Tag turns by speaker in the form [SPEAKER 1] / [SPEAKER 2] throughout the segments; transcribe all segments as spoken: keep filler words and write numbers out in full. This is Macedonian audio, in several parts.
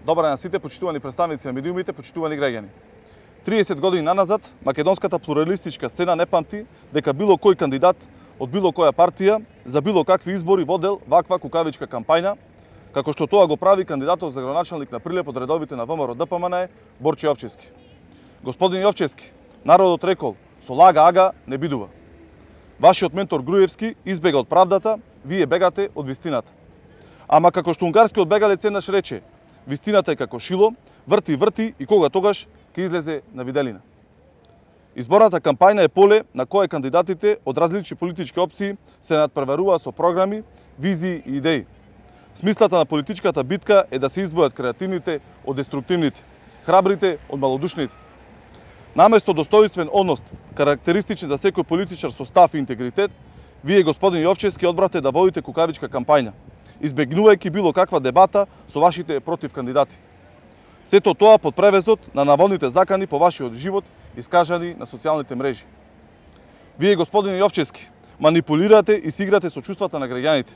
[SPEAKER 1] Добар ден на сите, почитувани представници на медиумите, почитувани граѓани. триесет години наназад, македонската плуралистичка сцена не памти дека било кој кандидат од било која партија за било какви избори водел ваква кукавичка кампања, како што тоа го прави кандидатот за градоначалник на Прилеп од редовите на ВМРО Д П М Н Борче Јовчевски. Господин Јовчевски, народот рекол, со лага ага не бидува. Вашиот ментор Груевски избега од правдата, вие бегате од вистината. Ама како што унгарскиот бегалец еднаш рече, вистината е како шило, врти, врти и кога тогаш ќе излезе на виделина. Изборната кампања е поле на кое кандидатите од различни политички опции се надпреваруваат со програми, визии и идеи. Смислата на политичката битка е да се издвојат креативните од деструктивните, храбрите од малодушните. Наместо достоинствен однос, карактеристичен за секој политичар со став и интегритет, вие, господин Јовчевски, одбравте да водите кукавичка кампања, избегнувајќи било каква дебата со вашите против кандидати. Сето тоа под превезот на наводните закани по вашиот живот, искажани на социјалните мрежи. Вие, господин Јовчевски, манипулирате и си играте со чувствата на граѓаните,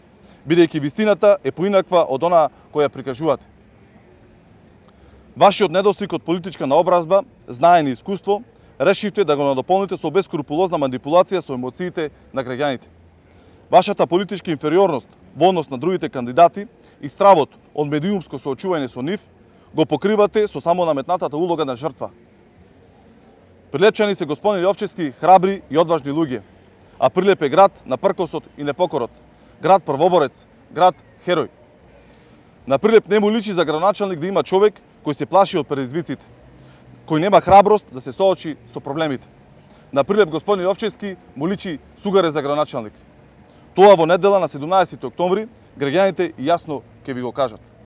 [SPEAKER 1] бидејќи вистината е поинаква од онаа која прикажувате. Вашиот недостиг од политичка наобразба, знаење и искуство, решивте да го надополните со бескрупулозна манипулација со емоциите на граѓаните. Вашата политичка инфериорност во однос на другите кандидати и стравот од медиумско соочување со нив го покривате со само наметнатата улога на жртва. Прилепчани се, господин Јовчевски, храбри и одважни луѓе, а Прилеп е град на пркосот и непокорот, град првоборец, град херој. На Прилеп не му личи за градоначалник да има човек кој се плаши од предизвиците, кој нема храброст да се соочи со проблемите. На Прилеп, господин Јовчевски, му личи сугаре за градоначалник. Тоа во недела на седумнаесети октомври граѓаните јасно ќе ви го кажат.